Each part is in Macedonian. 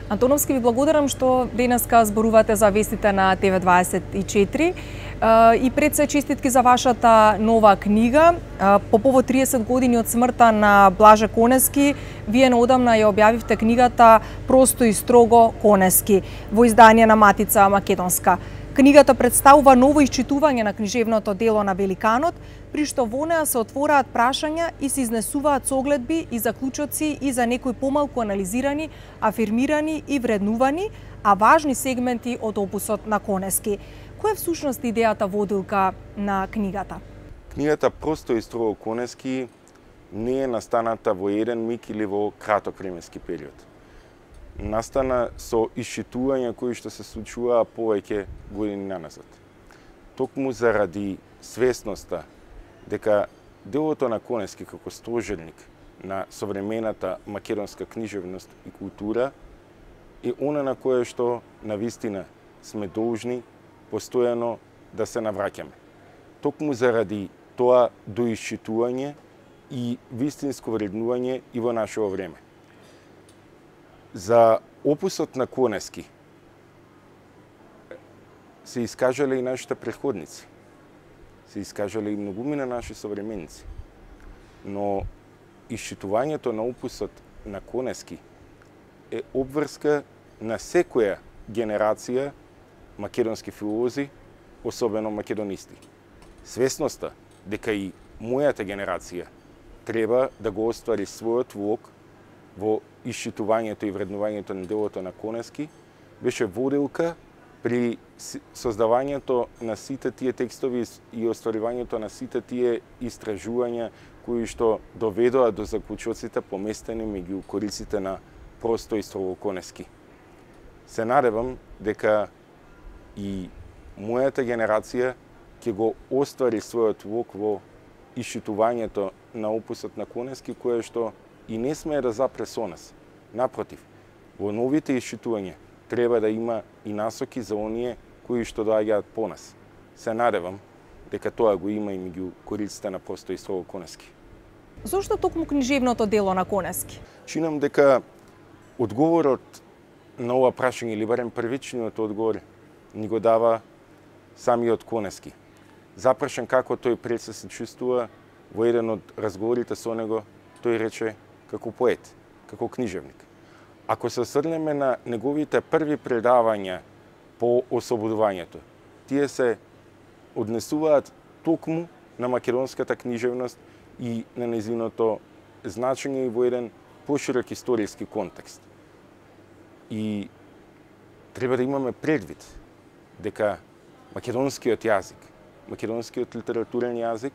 Антоновски, ви благодарам што денеска зборувате за вестите на ТВ24 и пред се честитки за вашата нова книга. По повод 30 години од смртта на Блаже Конески, вие наодамна ја објавивте книгата Просто и строго Конески во издание на Матица Македонска. Книгата представува ново исчитување на книжевното дело на великанот, при што во неа се отвораат прашања и се изнесуваат согледби и заклучоци и за некои помалку анализирани, афирмирани и вреднувани, а важни сегменти од опусот на Конески. Која е всушност идејата водилка на книгата? Книгата Просто и строго Конески не е настаната во еден миг или во краток временски период. Настана со исчитувања кои што се случуваа повеќе години наназад. Токму заради свесноста дека делото на Конески како стожерник на современата македонска книжевност и култура е она на кое што навистина сме должни постојано да се навраќаме. Токму заради тоа доисчитување и вистинско вреднување и во нашето време. За опусот на Конески се искажале и нашите претходници. Се искажале и многумина наши современици. Но исчитувањето на опусот на Конески е обврска на секоја генерација македонски филолози, особено македонисти. Свесноста дека и мојата генерација треба да го оствари својот влог во исчитувањето и вреднувањето на делото на Конески, беше водилка при создавањето на сите тие текстови и остваривањето на сите тие истражувања кои што доведоа до заклучоците поместени меѓу кориците на Просто и строго Конески. Се надевам дека и мојата генерација ќе го оствари својот влог во исчитувањето на опусот на Конески, кое што и не смее да запре со нас. Напротив, во новите исчитувања треба да има и насоки за оние кои што доаѓаат по нас. Се надевам дека тоа го има и меѓу кориците на Просто и строго Конески. Зошто токму книжевното дело на Конески? Чинам дека одговорот на ова прашање, или барем првичниот одговор, ни го дава самиот Конески. Запрашан како тој пред се чувствува, во еден од разговорите со него, тој рече како поет, како книжевник. Ако се осврнеме на неговите први предавања по ослободувањето, тие се однесуваат токму на македонската книжевност и на нејзиното значење и во еден поширок историски контекст. И треба да имаме предвид дека македонскиот јазик, македонскиот литературен јазик,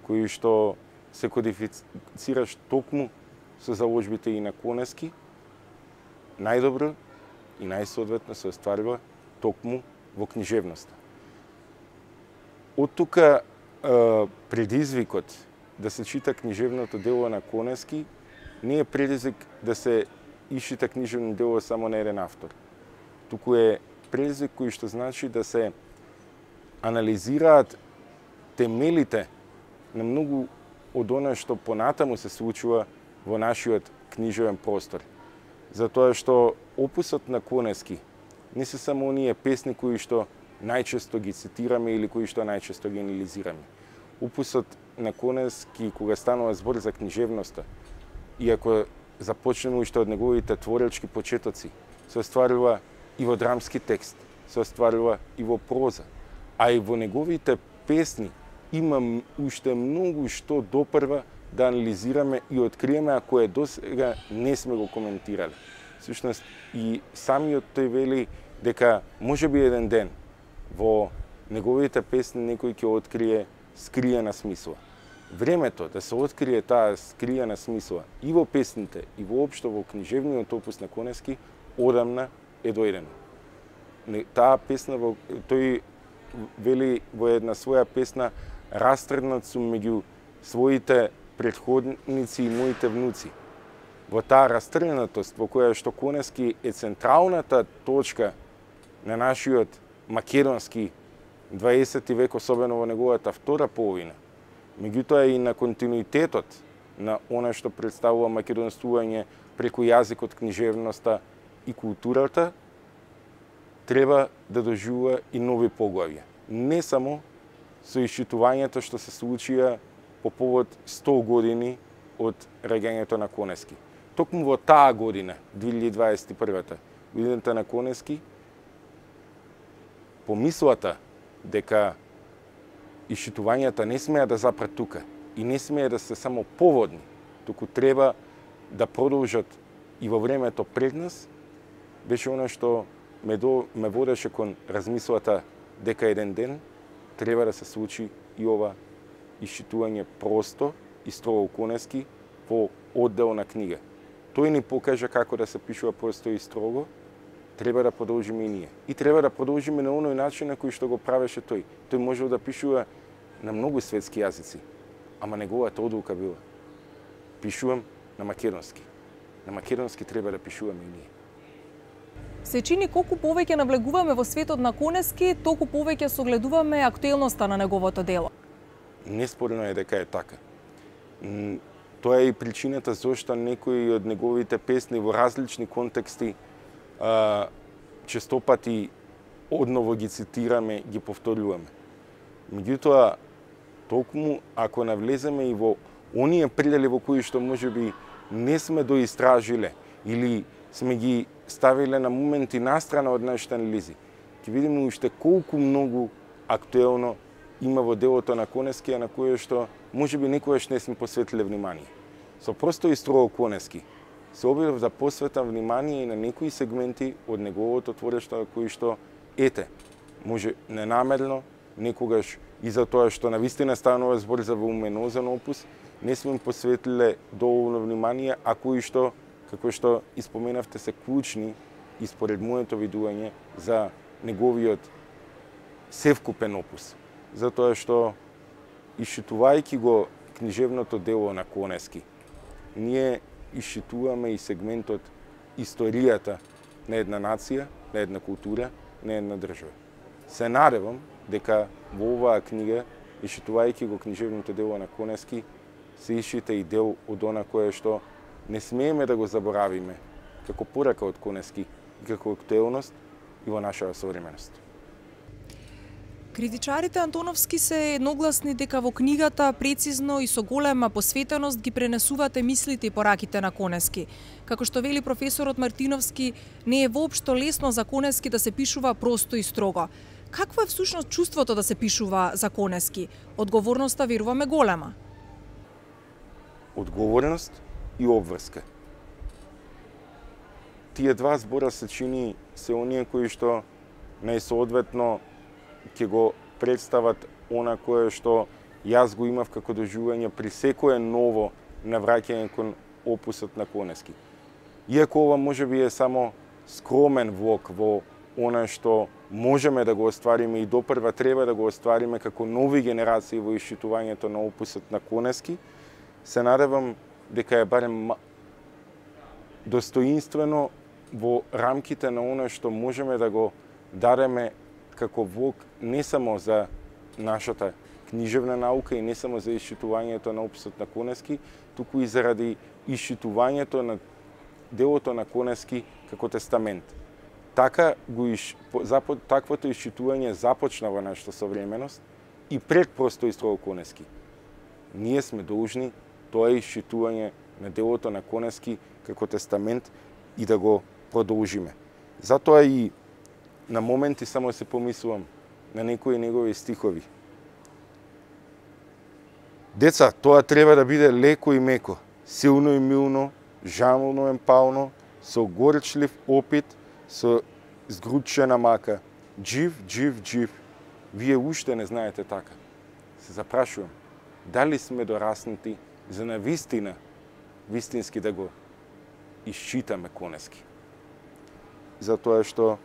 кој што се кодифицираш токму со заложбите и на Конески, најдобро и најсоодветно се остварува токму во книжевноста. Од тука предизвикот да се чита книжевното дело на Конески не е предизвик да се исчита книжевно дело само на еден автор. Туку е предизвик кој што значи да се анализираат темелите на многу од она што понатаму се случува во нашиот книжевен простор. Затоа што опусот на Конески не се само оние песни кои што најчесто ги цитираме или кои што најчесто ги анализираме. Опусот на Конески, кога станува збор за книжевноста, и ако започнеме уште од неговите творечки почетоци, се остварува и во драмски текст, се остварува и во проза, а и во неговите песни има уште многу што допрва да анализираме и откриеме, ако е досега не сме го коментирали. Всушност, и самиот тој вели дека можеби еден ден во неговите песни некој ќе открие скриена смисла. Времето да се открие таа скриена смисла и во песните, и воопшто во книжевниот опус на Конески, одамна е дојдено. Таа песна, тој вели во една своја песна, растргнат сум меѓу своите претходници и моите внуци. Во таа растргнатост во која што Конески е централната точка на нашиот македонски 20 век, особено во неговата втора половина, меѓутоа и на континуитетот на она што представува македонствување преку јазикот, книжевноста и културата треба да доживува и нови поглавја. Не само со исчитувањето што се случија по повод 100 години од раѓањето на Конески. Токму во таа година, 2021, годината на Конески, помислата дека исчитувањата не смеа да запрат тука и не смеа да се само поводни, туку треба да продолжат и во времето пред нас, беше она што ме водеше кон размислата дека еден ден треба да се случи и ова исчитување просто и строго конески во одделна книга. Тој ни покажа како да се пишува просто и строго, треба да продолжиме и ние. И треба да продолжиме на оној начин на кој што го правеше тој. Тој можел да пишува на многу светски јазици, ама неговата одлука била: пишувам на македонски. На македонски треба да пишуваме и ние. Се чини колку повеќе навлегуваме во светот на Конески, толку повеќе согледуваме актуелноста на неговото дело. Неспорно е дека е така. Тоа е и причината зошто некои од неговите песни во различни контексти честопати одново ги цитираме, ги повторуваме. Меѓутоа, токму ако навлеземе и во оние предели во кои што можеби не сме доистражиле или сме ги ставиле на моменти настрана од нашите анализи, ќе видиме уште колку многу актуелно има во делото на Конески, на кое што можеби некојаш не сме посветиле внимание. Со просто и строго Конески се обидов да посветам внимание и на некои сегменти од неговото творештво кои што може ненамерно, некогаш и за тоа што навистина станува збор за волуминозен опус, не сме посветиле доволно внимание, а кои што, како што испоменавте, се клучни и според моето видување за неговиот севкупен опус. Затоа што, исчитувајќи го книжевното дело на Конески, ние исчитуваме и сегментот историјата на една нација, на една култура, на една држава. Се надевам дека во оваа книга, исчитувајќи го книжевното дело на Конески, се исчита и дел од она кое што не смееме да го заборавиме како порака од Конески и како актуелност и во нашава современост. Критичарите антоновски се едногласни дека во книгата прецизно и со голема посветеност ги пренесувате мислите и пораките на Конески. Како што вели професорот Мартиновски, не е воопшто лесно за Конески да се пишува просто и строго. Какво е всушност чувството да се пишува за Конески? Одговорноста, веруваме, голема. Одговорност и обврска. Тие два збора се чини се оние кои што најсоодветно ќе го представат она кое што јас го имав како доживување при секое ново навраќање кон опусот на Конески. Иако ова можеби е само скромен влог во она што можеме да го оствариме и допрва треба да го оствариме како нови генерации во исчитувањето на опусот на Конески, се надевам дека е барем достоинствено во рамките на она што можеме да го дадеме како влог не само за нашата книжевна наука и не само за исчитувањето на описот на Конески, туку и заради исчитувањето на делото на Конески како тестамент. Таквото исчитување започна во нашата современост и пред просто и строго Конески. Ние сме должни тоа исчитување на делото на Конески како тестамент и да го продолжиме. Затоа и на моменти само се помислувам на некои негови стихови. Деца, тоа треба да биде леко и меко, силно и милно, жамолно и пално, со горчлив опит, со згручена мака. Джив, джив, джив. Вие уште не знаете така. Се запрашувам, дали сме дораснати за навистина, вистински да го исчитаме Конески. Затоа што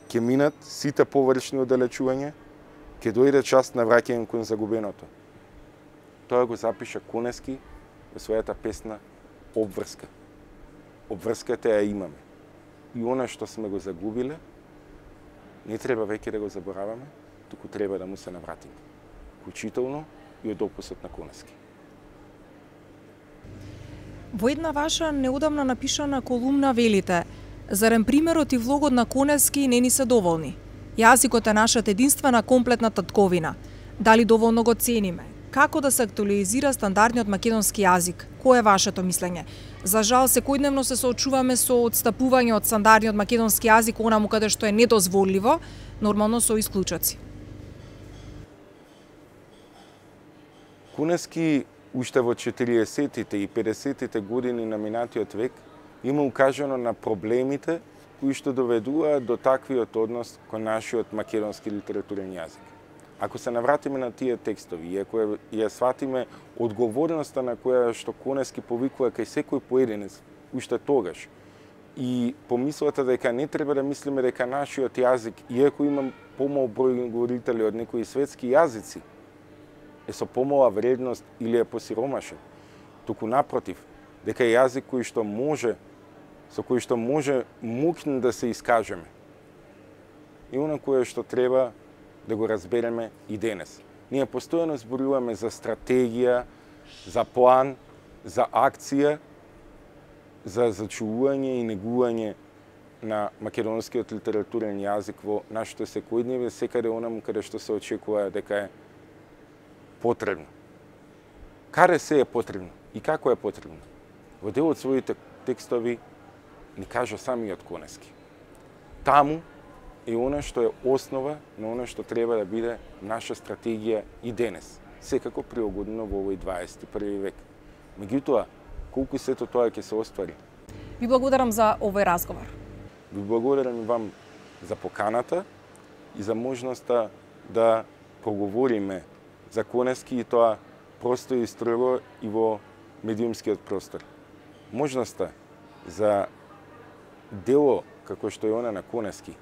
ќе минат сите површни оддалечувања, ќе дојде час на враќање кон загубеното. Тоа го запиша Конески во својата песна Обврска. Обврската ја имаме. И она што сме го загубиле, не треба веќе да го забораваме, туку треба да му се навратиме. Вклучително и од опусот на Конески. Во една ваша неодамна напишана колумна велите: Зарем примерот и влогот на Конески не ни се доволни? Јазикот е нашата единствена комплетна татковина. Дали доволно го цениме? Како да се актуализира стандардниот македонски јазик? Кое е вашето мислење? За жал, секојдневно се соочуваме со одстапување од стандардниот македонски јазик онаму каде што е недозволиво, нормално со исклучоци. Конески уште во 40-тите и 50-тите години на минатиот век има укажано на проблемите кои што доведуваат до таквиот однос кон нашиот македонски литературен јазик. Ако се навратиме на тие текстови и ако ја сватиме одговорноста на која што Конески повикува кај секој поединец уште тогаш и помислата дека не треба да мислиме дека нашиот јазик, иако има помал број говорители од некои светски јазици, е со помала вредност или е посиромашен, туку напротив, дека е јазик со кој што може мукно да се искажеме. И она кое што треба да го разбереме и денес. Ние постојано зборуваме за стратегија, за план, за акција, за зачувување и негување на македонскиот литературен јазик во нашето секојдневие, секаде онаму каде што се очекува дека е потребно. Каде се е потребно и како е потребно? Во дел од своите текстови ни кажа самиот Конески. Таму е она што е основа на она што треба да биде наша стратегија и денес, секако приогодено во овој 21 век. Меѓутоа, колку сето тоа ќе се оствари? Ви благодарам за овој разговор. Ви благодарам и вам за поканата и за можноста да проговориме за Конески и тоа просто и строго и во медиумскиот простор. Можноста за дело како што е она на Конески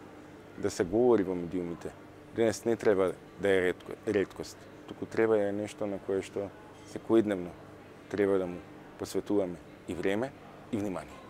да се говори во медиумите денес не треба да е реткост, туку треба да е нешто на кое што секојдневно треба да му посветуваме и време и внимание.